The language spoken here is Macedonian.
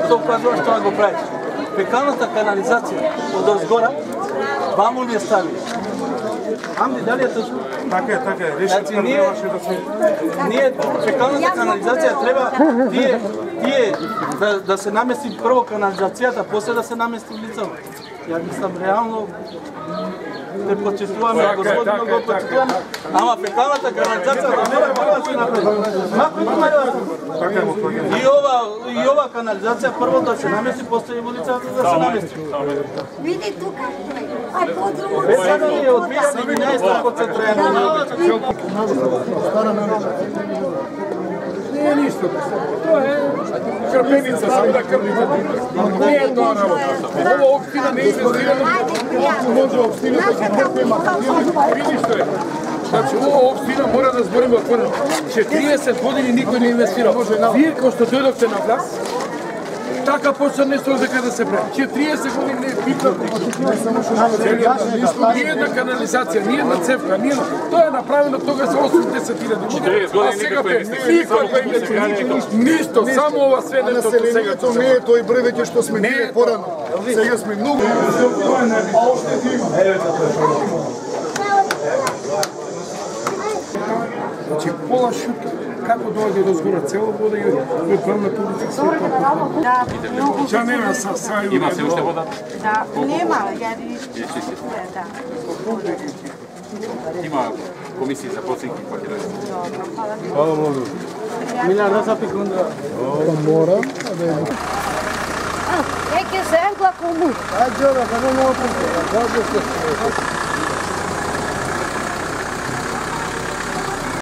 Тоа кажува што го правиш. Фекалната канализација од озгора ваму ли стави. Амди, дали е точно? Така е, реши ние фекалната канализација треба тие да се намести прво канализацијата, после да се намести лицето. Ја мислам реално те почитуваме, господино го почитуваме, ама фекалната канализација да мора прво да се направи. И ова канализација прво да се намести, после и улицата да се намести. Види тука, а по-друго... Сега ние од 2017 концентрирано. Не е ништо. Тоа е крпеница, само да крпите. Не е тоа работа. Ова општина не е инвестирана. Може општината да крпима. Види што е. Значи, ова општина мора да збориме отворено. 40 години никој не инвестира. Вие, кој што дојдовте на власт, така почна нешто дека да се прави. 40 години не е битно. Ни една канализација, ни една цевка, ни една. Тоа е направено тогаш за 80.000 години. А сега никој ништо, само ова све нешто до сега. Не е тој брвеќе што сме ние порано. Сега сме многу. Значи, пола шута, како доаѓа до згора цела вода и правна публика све тоа. Да, многу. Ча нема сају. Има се уште вода? Да, нема, јади. Да. Има комисии за проценки, па ќе дојде. Хвала многу. Милиарда секунда. Мора, Е, ќе се ергла кому. Ајде, да не можам.